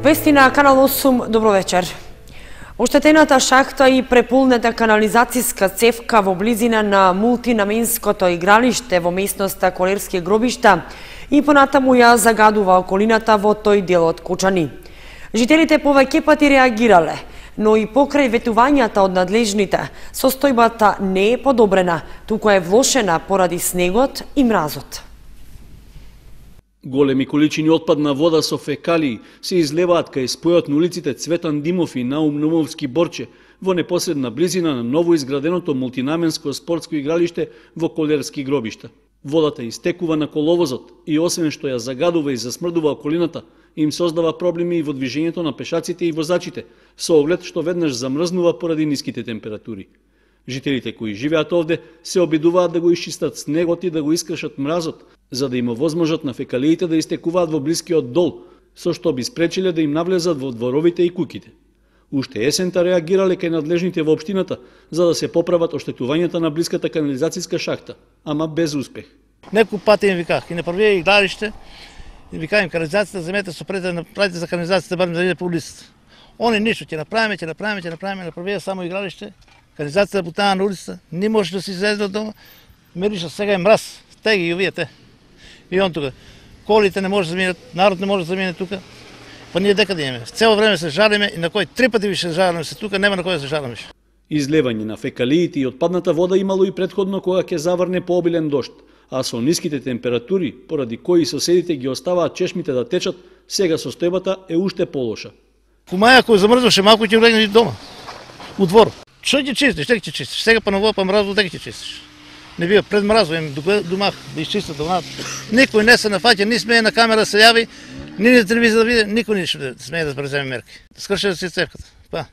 Вести на Канал 8, добро вечер. Оштетената шахта и преполнета канализацијска цевка во близина на мултинаменското игралиште во местноста Колерски гробишта и понатаму ја загадува околината во тој дел од Кучани. Жителите повеќе пати реагирале, но и покрај ветувањата од надлежните, состојбата не е подобрена, туку е влошена поради снегот и мразот. Големи количини отпадна вода со фекалии се излеваат кај спојот на улиците Цветан Димов и Наум Нумовски Борче во непосредна близина на ново изграденото мултинаменско спортско игралиште во Колерски гробишта. Водата истекува на коловозот и освен што ја загадува и засмрдува околината, им создава проблеми и во движењето на пешаците и возачите, со оглед што веднаш замрзнува поради ниските температури. Жителите кои живеат овде се обидуваат да го исчистат снегот и да го искршат мразот, за да има возможност на фекалиите да истекуваат во блискиот дол, со што би спречиле да им навлезат во дворовите и куќите. Уште есента реагирале кај надлежните во општината за да се поправат оштетувањата на блиската канализацијска шахта, ама без успех. Некој пат им виках и на првие игралиште, викаем канализацијата земете со пред да направите за канализацијата барем да иде по улицата. Они ништо ќе направиме, на првие само игралиште, канализацијата бутана на улицата, не може да се излезе од дома, мириша сега е мраз, теги и овие те. И он тука, колите не може да заминат, народ не може да замине тука, па ние дека да имаме. Цело време се жалиме и на кој 3 пати више жалиме се тука, нема на кој да се жалиме. Излевање на фекалиите и отпадната вода имало и претходно кога ќе заврне пообилен дожд, а со ниските температури, поради кои соседите ги оставаат чешмите да течат, сега состојбата е уште полоша. Кумаја кој замрзнуваше малку ќе влегне дома, у двор. Што ќе чистиш, дека ќе чистиш? Сега па ново па мразот дека ќе чистиш. Не бива пред мразот, домах да изчистат домат. Никој не се нафаќа, ни смее на камера се јави, ни на телевизија да види, никој не смее да преземе мерки. Да скрше да се цевката. Па,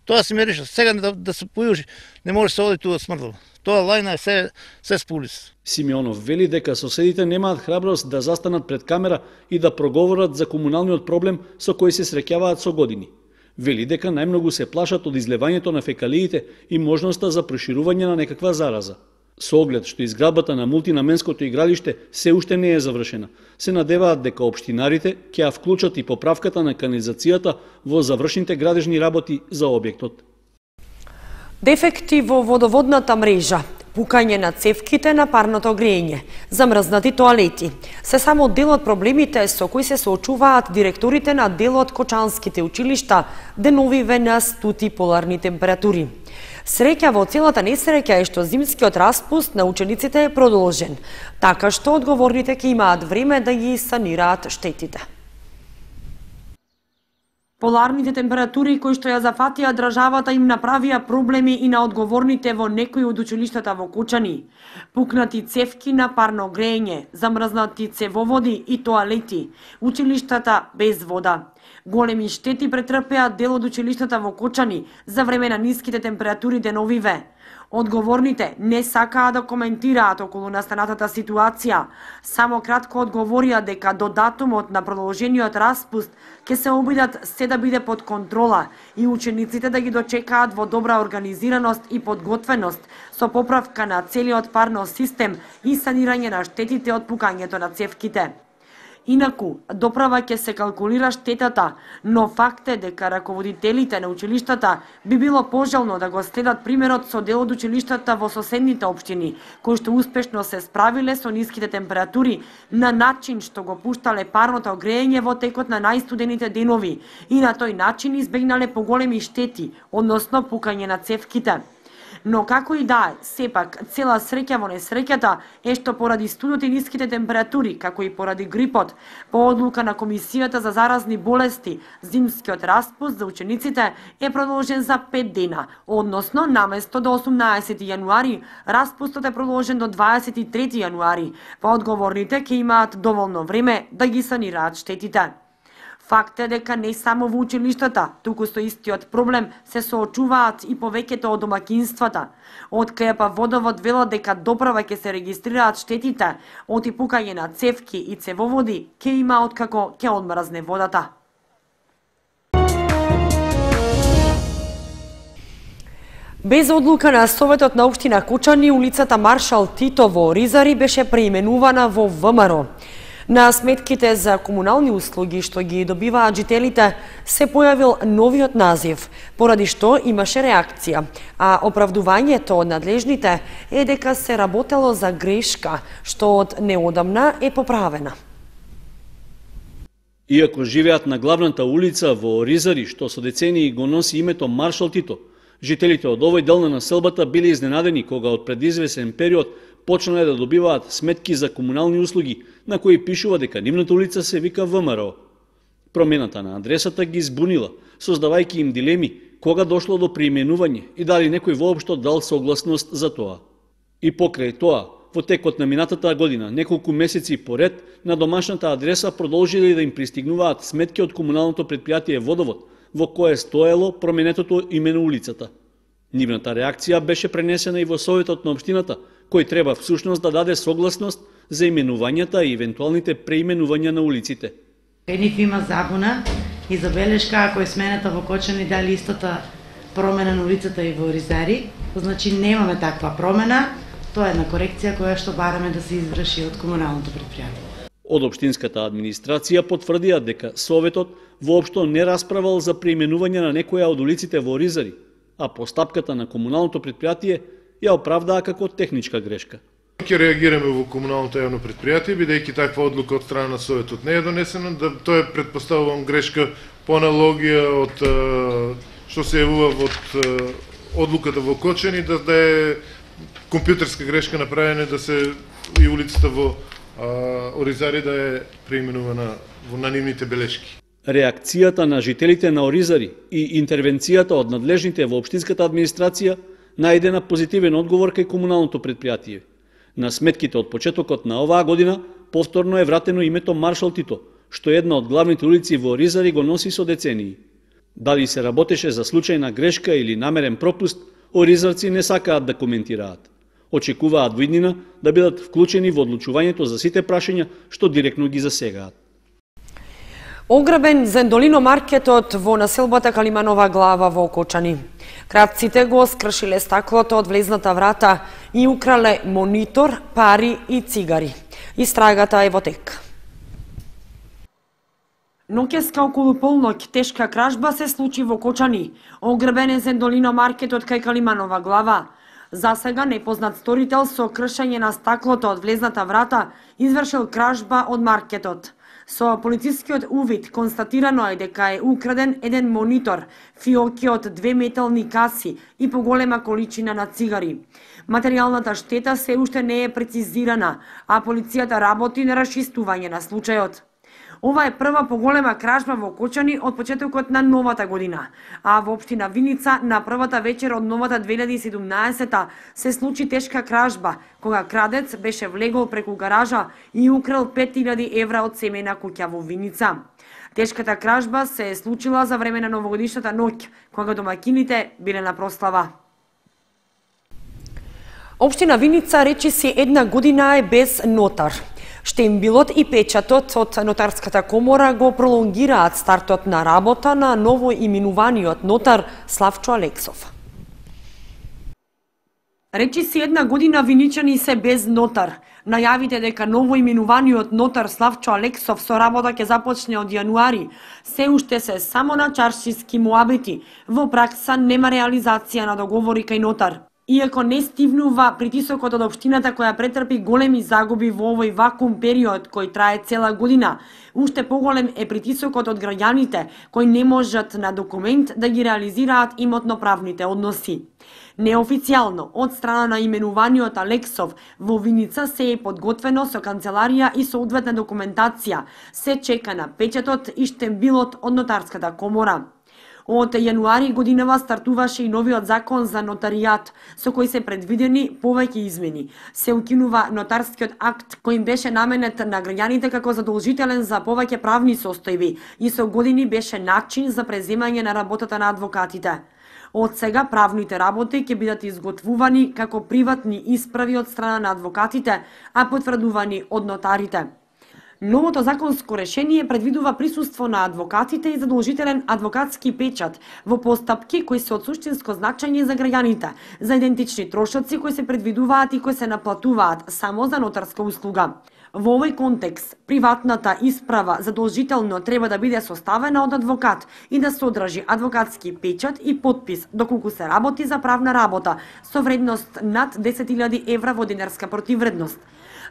тоа се мириша, сега да се појужи, не може се оди туа смрдало. Тоа лајна е се спулис. Симеонов вели дека соседите немаат храброст да застанат пред камера и да проговорат за комуналниот проблем со кој се среќаваат со години. Вели дека најмногу се плашат од излевањето на фекалиите и можноста за проширување на некаква зараза. Со оглед што изградбата на мултинаменското игралиште се уште не е завршена, се надеваат дека општинарите ќе ја вклучат и поправката на канализацијата во завршените градежни работи за објектот. Дефекти во водоводната мрежа, пукање на цевките на парното грејење, замрзнати тоалети, се само дел од проблемите со кои се соочуваат директорите на дел од кочанските училишта деновиве на стути поларни температури. Среќа во целата несреќа е што зимскиот распуст на учениците е продолжен, така што одговорните ќе имаат време да ги санираат штетите. Поларните температури кои што ја зафатија државата им направија проблеми и на одговорните во некои од училиштата во Кучани. Пукнати цевки на парно грејење, замрзнати цевоводи и тоалети, училиштата без вода. Големи штети претрпеа дел од училиштата во Кучани за време на ниските температури деновиве. Одговорните не сакаа да коментираат околу настанатата ситуација, само кратко одговорија дека до датумот на продолжениот распуст ќе се обидат се да биде под контрола и учениците да ги дочекаат во добра организираност и подготвеност со поправка на целиот парно систем и санирање на штетите од пукањето на цевките. Инаку, доправа ќе се калкулира штетата, но факт е дека раководителите на училиштата би било пожелно да го следат примерот со дел од училиштата во соседните општини, кои што успешно се справиле со ниските температури на начин што го пуштале парното грејење во текот на најстудените денови и на тој начин избегнале поголеми штети, односно пукање на цевките. Но како и да е, сепак, цела среќа во несреќата е што поради студот и ниските температури, како и поради грипот, по одлука на Комисијата за заразни болести, зимскиот распуст за учениците е продолжен за 5 дена, односно наместо до 18 јануари, распустот е продолжен до 23 јануари, па одговорните ќе имаат доволно време да ги санираат штетите. Факт е дека не само во училиштата, туку со истиот проблем се соочуваат и повеќето од домакинствата. Од КЕП Водовод велат дека доправа ќе се регистрираат штетите од и пукање на цевки и цевоводи ќе има откако ќе одмрзне водата. Без одлука на Советот на општина Кучани, улицата Маршал Тито во Ризари беше преименувана во ВМРО. На сметките за комунални услуги што ги добиваат жителите се појавил новиот назив, поради што имаше реакција, а оправдувањето од надлежните е дека се работело за грешка, што од неодамна е поправена. Иако живеат на главната улица во Оризари, што со децении го носи името Маршал Тито, жителите од овој дел на населбата биле изненадени кога од предизвесен период почнале да добиваат сметки за комунални услуги, на кои пишува дека нивната улица се вика ВМРО. Промената на адресата ги збунила, создавајќи им дилеми кога дошло до преименување и дали некој воопшто дал согласност за тоа. И покрај тоа, во текот на минатата година, неколку месеци поред, на домашната адреса продолжиле да им пристигнуваат сметки од комуналното претпријатие Водовод, во кое стоело променетото име на улицата. Нивната реакција беше пренесена и во Советот на општината, кој треба всушност да даде согласност за именувањата и евентуалните преименувања на улиците. Нив има забуна и забелешка ако е смената во Кочани дали истата промена на улицата и во Оризари, значи немаме таква промена, тоа е една корекција која што бараме да се изврши од комуналното претпријатие. Од општинската администрација потврдија дека Советот воопшто не расправал за преименување на некоја од улиците во Оризари, а постапката на комуналното претпријатие ја оправдаа како техничка грешка. Ќе реагираме во комуналното јавно претпријатие, бидејќи таква одлука од страна на Советот не е донесена, да тоа е претпоставувам грешка по аналогија од што се јавува од одлуката во Кочани, да е компјутерска грешка направена да се и улицата во Оризари да е преименувана на нивните белешки. Реакцијата на жителите на Оризари и интервенцијата од надлежните во општинската администрација најде на позитивен одговор кај комуналното претпријатие. На сметките од почетокот на оваа година повторно е вратено името Маршал Тито, што една од главните улици во Оризари го носи со децении. Дали се работеше за случајна грешка или намерен пропуст, оризарци не сакаат да коментираат. Очекуваат во иднина да бидат вклучени во одлучувањето за сите прашања што директно ги засегаат. Ограбен Зендолино маркетот во населбата Калиманова глава во Кочани. Кравците го скршиле стаклото од влезната врата и украле монитор, пари и цигари. Истрагата е во тек. Ноќеска околу полноќ тешка кражба се случи во Кочани. Ограбен е Зендолино маркетот кај Калиманова глава. За сега непознат сторител со кршење на стаклото од влезната врата извршил кражба од маркетот. Со полицискиот увид констатирано е дека е украден еден монитор, фиоки од 2 метални каси и поголема количина на цигари. Материјалната штета се уште не е прецизирана, а полицијата работи на расчистување на случајот. Ова е прва поголема кражба во Кочани од почетокот на новата година, а во општина Виница на првата вечер од новата 2017 се случи тешка кражба, кога крадец беше влегол преку гаража и украл 5000 евра од семејна куќа во Виница. Тешката кражба се случила за време на новогодишната ноќ, кога домаќините биле на прослава. Општина Виница речиси една година е без нотар. Штембилот и печатот од Нотарската комора го пролонгираат стартот на работа на ново именуваниот нотар Славчо Алексов. Речиси една година виничани се без нотар. Најавите дека ново именуваниот нотар Славчо Алексов со работа ќе започне од јануари, се уште се само на чаршиски муабети. Во пракса нема реализација на договори кај нотар. Иако не стивнува притисокот од општината која претрпи големи загуби во овој вакуум период кој трае цела година, уште поголем е притисокот од граѓаните кои не можат на документ да ги реализираат имотно-правните односи. Неофицијално, од страна на именуваниот Алексов, во Виница се е подготвено со канцеларија и соодветна документација, се чека на печатот и штембилот од Нотарската комора. Од јануари годинава стартуваше и новиот закон за нотаријат, со кој се предвидени повеќе измени. Се укинува нотарскиот акт кој беше наменет на граѓаните како задолжителен за повеќе правни состојби и со години беше начин за преземање на работата на адвокатите. Од сега правните работи ќе бидат изготвувани како приватни исправи од страна на адвокатите, а потврдувани од нотарите. Новото законско решение предвидува присуство на адвокатите и задолжителен адвокатски печат во постапки кои се од суштинско значење за граѓаните, за идентични трошоци кои се предвидуваат и кои се наплатуваат само за нотарска услуга. Во овој контекст, приватната исправа задолжително треба да биде составена од адвокат и да содржи адвокатски печат и подпис доколку се работи за правна работа со вредност над 10.000 евра во денарска противвредност.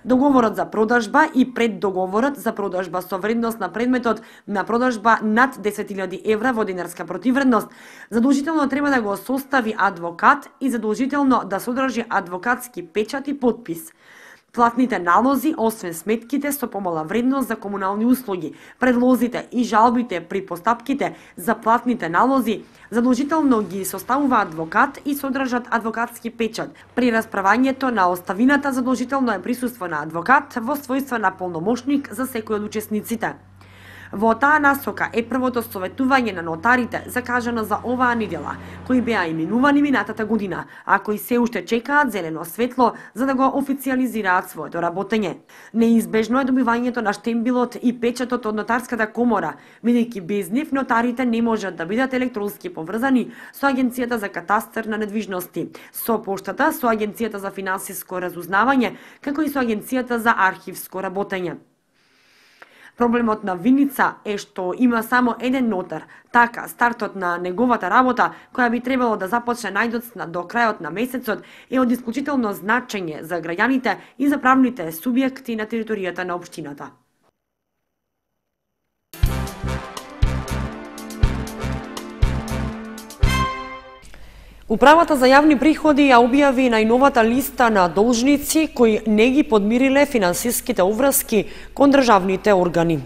Договорот за продажба и преддоговорот за продажба со вредност на предметот на продажба над 10.000 евра во денарска противвредност задолжително треба да го состави адвокат и задолжително да содржи адвокатски печат и подпис. Платните налози, освен сметките со помала вредност за комунални услуги, предлозите и жалбите при постапките за платните налози, задолжително ги составува адвокат и содржат адвокатски печат. При расправањето на оставината задолжително е присуство на адвокат во својство на полномошник за секој од учесниците. Во таа насока е првото советување на нотарите закажано за оваа недела, кои беа именувани минатата година, а кои се уште чекаат зелено светло за да го официализираат своето работење. Неизбежно е добивањето на штембилот и печатот од нотарската комора, бидејќи без нив нотарите не можат да бидат електронски поврзани со Агенцијата за катастар на недвижности, со поштата, со Агенцијата за финансиско разузнавање, како и со Агенцијата за архивско работење. Проблемот на Виница е што има само еден нотар, така стартот на неговата работа, која би требало да започне најдоцна до крајот на месецот, е од исклучително значење за граѓаните и за правните субјекти на територијата на општината. Управата за јавни приходи ја објави најновата листа на должници кои не ги подмириле финансиските уврски кон државните органи.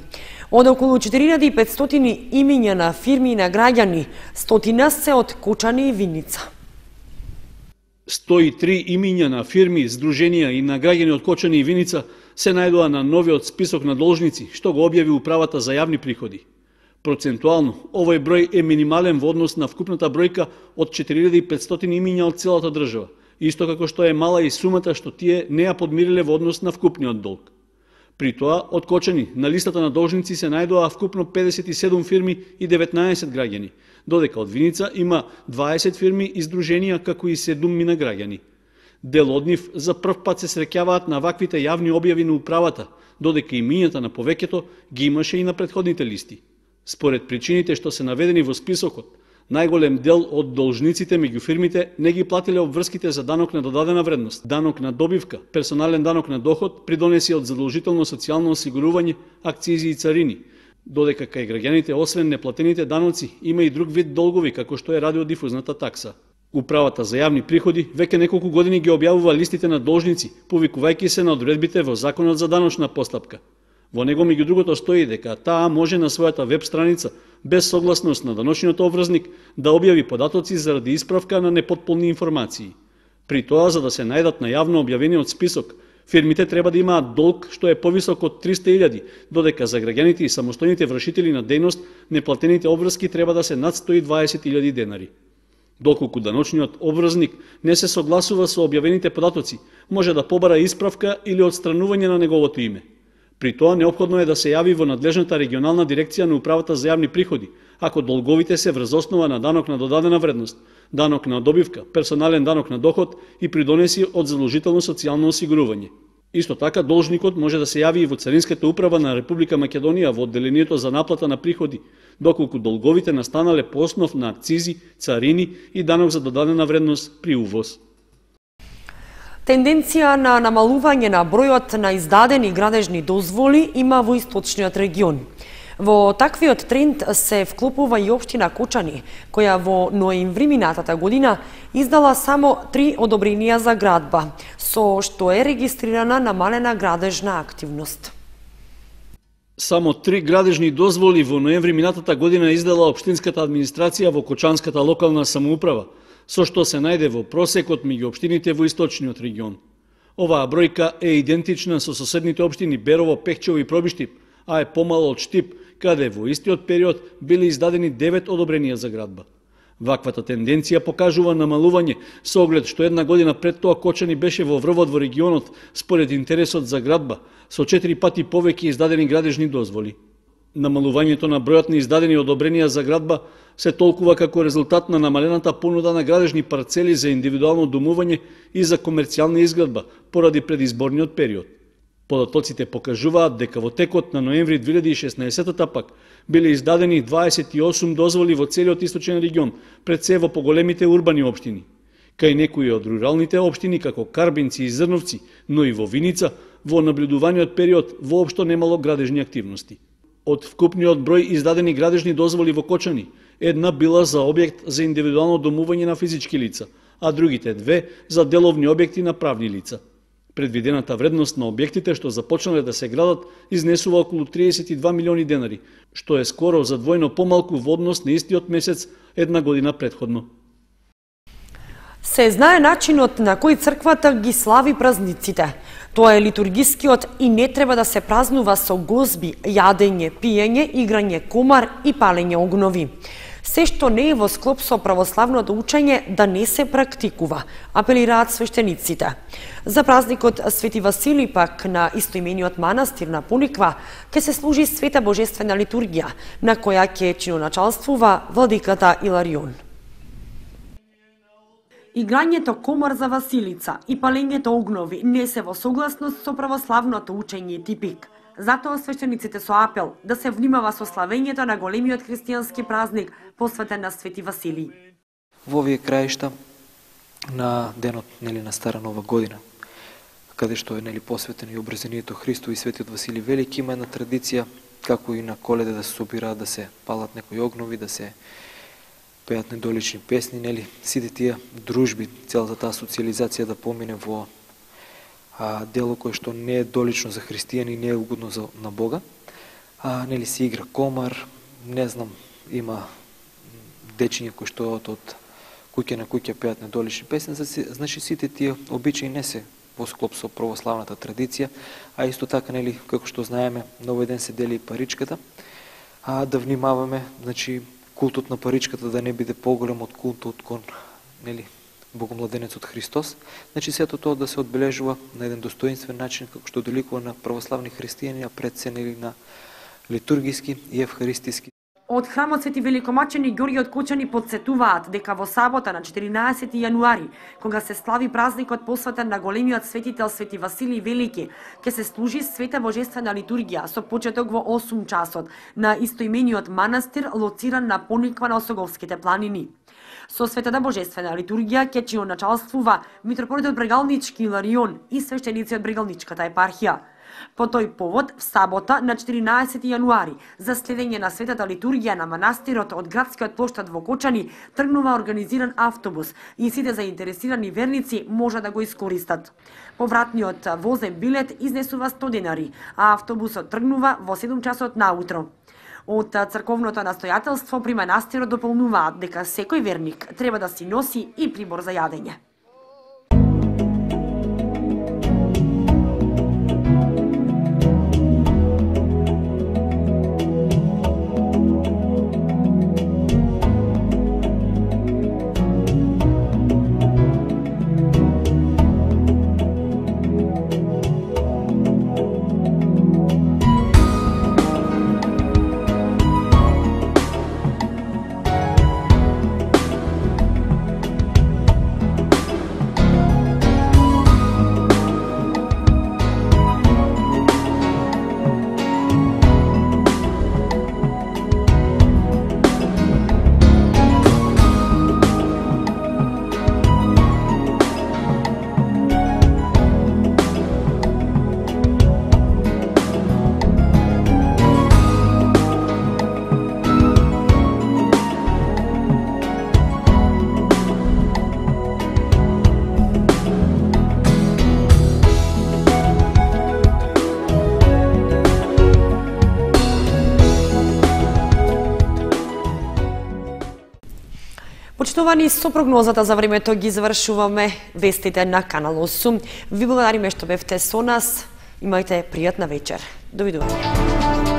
Од околу 4500 имиња на фирми и на граѓани, 100 се од Кочани и Виница. 103 имиња на фирми, здруженија и на граѓани од Кочани и Виница се најдоа на новиот список на должници, што го објави Управата за јавни приходи. Процентуално, овој број е минимален во однос на вкупната бројка од 4500 имиња од целата држава, исто како што е мала и сумата што тие не ја подмириле во однос на вкупниот долг. При тоа, од Кочани на листата на должници се најдоа вкупно 57 фирми и 19 граѓани, додека од Виница има 20 фирми и здруженија како и 7 мина граѓани. Дел од нив за прв пат се среќаваат на ваквите јавни објави на управата, додека имињата на повеќето ги имаше и на претходните листи. Според причините што се наведени во списокот, најголем дел од должниците меѓу фирмите не ги платиле обврските за данок на додадена вредност, данок на добивка, персонален данок на доход, придонеси од задолжително социјално осигурување, акцизи и царини, додека кај граѓаните освен неплатените даноци има и друг вид долгови како што е радиодифузната такса. Управата за јавни приходи веќе неколку години ги објавува листите на должници, повикувајќи се на одредбите во Законот за даночна постапка. Во него меѓу другото стои дека таа може на својата веб страница, без согласност на даночниот обврзник, да објави податоци заради исправка на непотполни информации. При тоа, за да се најдат на јавно објавениот список, фирмите треба да имаат долг што е повисок од 300.000, додека за граѓаните и самостојните вршители на дејност неплатените обврски треба да се над 120.000 денари. Доколку даночниот обврзник не се согласува со објавените податоци, може да побара исправка или отстранување на неговото име. При тоа неопходно е да се јави во надлежната регионална дирекција на Управата за јавни приходи, ако долговите се врз основа на данок на додадена вредност, данок на добивка, персонален данок на доход и придонеси од задолжително социјално осигурување. Исто така, должникот може да се јави и во Царинската управа на Република Македонија во одделението за наплата на приходи, доколку долговите настанале по основ на акцизи, царини и данок за додадена вредност при увоз. Тенденција на намалување на бројот на издадени градежни дозволи има во источниот регион. Во таквиот тренд се вклопува и општина Кочани, која во ноември минатата година издала само 3 одобренија за градба, со што е регистрирана намалена градежна активност. Само 3 градежни дозволи во ноември минатата година издала општинската администрација во Кочанската локална самоуправа, со што се најде во просекот меѓу општините во источниот регион. Оваа бројка е идентична со соседните општини Берово, Пехчево и Пробиштип, а е помало од Штип, каде во истиот период били издадени 9 одобренија за градба. Ваквата тенденција покажува намалување, со оглед што една година пред тоа Кочани беше во врвот во регионот според интересот за градба, со 4 пати повеќе издадени градежни дозволи. Намалувањето на бројот на издадени одобренија за градба се толкува како резултат на намалената понуда на градежни парцели за индивидуално домување и за комерцијална изградба поради предизборниот период. Податоците покажуваат дека во текот на ноември 2016 пак биле издадени 28 дозволи во целиот источен регион, пред се во поголемите урбани општини. Кај некои од руралните општини, како Карбинци и Зрновци, но и во Виница, во наблюдуваниот период воопшто немало градежни активности. Од вкупниот број издадени градежни дозволи во Кочани, една била за објект за индивидуално домување на физички лица, а другите две за деловни објекти на правни лица. Предвидената вредност на објектите што започнале да се градат изнесува околу 32 милиони денари, што е скоро за двојно помалку во однос на истиот месец една година претходно. Се знае начинот на кој црквата ги слави празниците. Тоа е литургискиот и не треба да се празнува со гозби, јадење, пиење, играње комар и палење огнови. Се што не е во склоп со православното учење да не се практикува, апелираат свештениците. За празникот Свети Василий пак на истоимениот манастир на Пониква ќе се служи света божествена литургија, на која ќе чиноначалствува владиката Иларион. Играњето комар за Василица и палењето огнови не се во согласност со православното учење и типик. Затоа свештениците со апел да се внимава со славењето на големиот христијански празник посветен на Свети Василий. Во овие краишта на денот на Стара Нова година, каде што е посветен и обрезението Христо и Светиот Василий Велики, има една традиција како и на Коледа да се собираат, да се палат некои огнови, да се пеат недолични песни, сите тие дружби, целата таа социализација да помине во дело кое што не е долично за христијани и не е угодно на Бога. Се игра комар, не знам, има дечиња кои што од куќа на куќа пеат недолични песни, значи сите тие обичаи не се во склоп со православната традиција, а исто така, како што знаеме, на овој ден се дели и паричката, да внимаваме, значи, култот на паричката да не биде поголем од култот кон, Богомладенецот Христос. Значи, сето тоа да се одбележува на еден достоинствен начин, како што доликува на православни христијани, а пред се на литургиски и евхаристиски. Од храмот Свети Великомачени Ѓорѓе од Кочани подсетуваат дека во сабота на 14 јануари, кога се слави празникот посветен на големиот светител Свети Василий Велики, ќе се служи света божествена литургија со почеток во 8 часот на истоимениот манастир лоциран на Пониква на Осоговските планини. Со светата божествена литургија ќе чиноначалствува митрополитот Брегалнички Иларион и свештеници од Брегалничката епархија. По тој повод, в сабота на 14 јануари, за следење на светата литургија на манастирот од градскиот плоштад во Кочани, тргнува организиран автобус и сите заинтересирани верници може да го искористат. Повратниот возен билет изнесува 100 денари, а автобусот тргнува во 7 часот наутро. Од црковното настојателство при манастирот дополнуваат дека секој верник треба да си носи и прибор за јадење. Почитувани, со прогнозата за времето ги завршуваме вестите на Канал 8. Ви благодариме што бевте со нас. Имајте пријатна вечер. Довидување.